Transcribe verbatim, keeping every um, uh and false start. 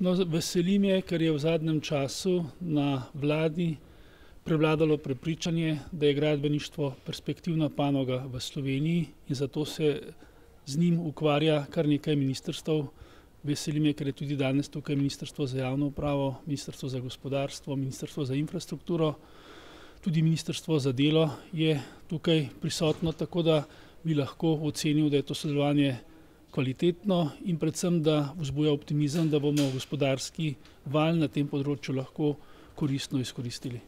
No, veseli me, ker je v zadnjem času na vladi prevladalo prepričanje, da je gradbeništvo perspektivna panoga v Sloveniji in zato se z njim ukvarja kar nekaj ministrstev. Veseli me, ker je tudi danes tukaj Ministrstvo za javno upravo, Ministrstvo za gospodarstvo, Ministrstvo za infrastrukturo, tudi Ministrstvo za delo je tukaj prisotno, tako da bi lahko ocenil, da je to sodelovanje kvalitetno in predvsem, da vzbuja optimizem, da bomo gospodarski val na tem področju lahko koristno izkoristili.